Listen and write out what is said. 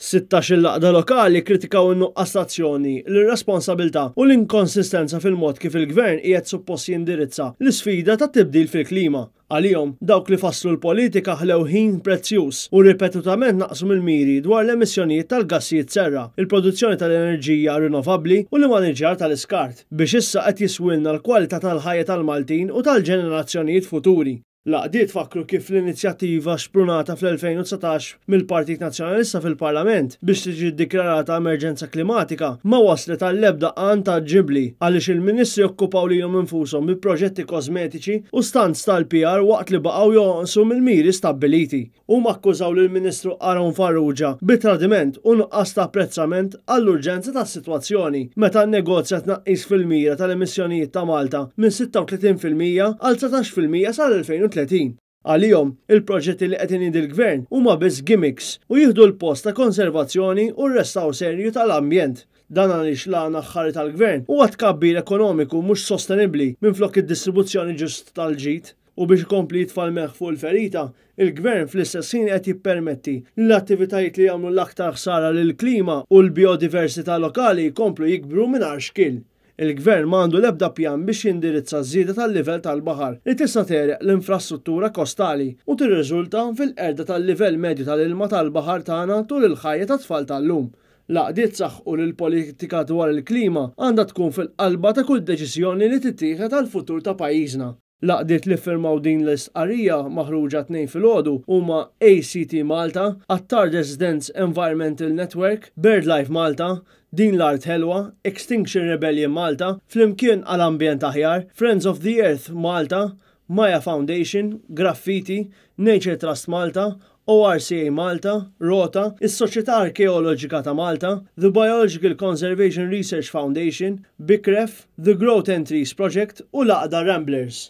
16-il għaqda lokali kkritikaw in-nuqqas ta' azzjoni, l-irresponsabilità u l-inkonsistenza fil-mod kif il-Gvern qiegħed suppost jindirizza l-isfida tat-tibdil fil-klima. Għalihom, dawk li fasslu l-politika ħlew ħin prezzjuż u ripetutament naqsu mill-miri dwar l-emissjonijiet tal-gassijiet serra, il-produzzjoni tal-enerġija rinnovabbli u l-immaniġġjar tal-iskart, biex issa qed jiswilna l-kwalità tal-ħajja tal-Maltin u tal-ġenerazzjonijiet futuri. L-għaqdiet fakkru kif l-inizjattiva xprunata fl-2019 mill-Partit Nazzjonalista fil-Parlament biex tiġi ddikjarata emerġenza klimatika ma wasslet għall-ebda għan tanġibbli għaliex il-Ministri okkupaw lilhom infushom bi proġetti kosmetiċi u stunts tal-PR waqt li baqgħu jonqsu mill-miri stabbiliti. Huma akkużaw lill-Ministru Aaron Farrugia bi tradiment u nuqqas ta' apprezzament għall-urġenza tas-sitwazzjoni meta nnegozja tnaqqis fil-mira tal-emissjonijiet ta' Malta minn 36% għal 19% sal-2030. Għalihom, il-proġetti li qed iniedi l-Gvern huma biss gimmicks u jieħdu l-post ta' konservazzjoni u r-restawr serju tal-ambjent. Dan għaliex l-għan aħħari tal-Gvern huwa tkabbir ekonomiku mhux sostenibbli minflok id-distribuzzjoni ġust tal-ġid. U biex ikompli jitfa' l-melħ fuq il-ferita, il-Gvern fl-istess ħin qed jippermetti li l-attivitajiet li jagħmlu l-aktar ħsara lill-klima u l-bijodiversità lokali jkomplu jikbru mingħajr xkiel. Il-Gvern ma għandu l-ebda pjan biex jindirizza ż-żieda tal-livell tal-baħar li tista' tegħreq l-infrastruttura kostali u tirriżulta fil-qerda tal-livell medju tal-ilma tal-baħar tagħna tul il-ħajja tat-tfal tal-lum. L-għaqdiet saħqu li l-politika dwar il-klima għandha tkun fil-qalba ta' kull deċiżjoni li tittieħed għall-futur ta' pajjiżna. L-għaqdiet li ffirmaw din l-istqarrija maħruġa t-Tnejn filgħodu huma ACT Malta, Attard Residents Environmental Network, BirdLife Malta, Din l-Art Ħelwa, Extinction Rebellion Malta, Flimkien għal Ambjent Aħjar, Friends of the Earth Malta, Maya Foundation, Graffiti, Nature Trust Malta, ORCA Malta, Rota, is-Soċjetà Arkeoloġika ta' Malta, The Biological Conservation Research Foundation, BICREF, The Growth and Trees Project u l-Għaqda Ramblers.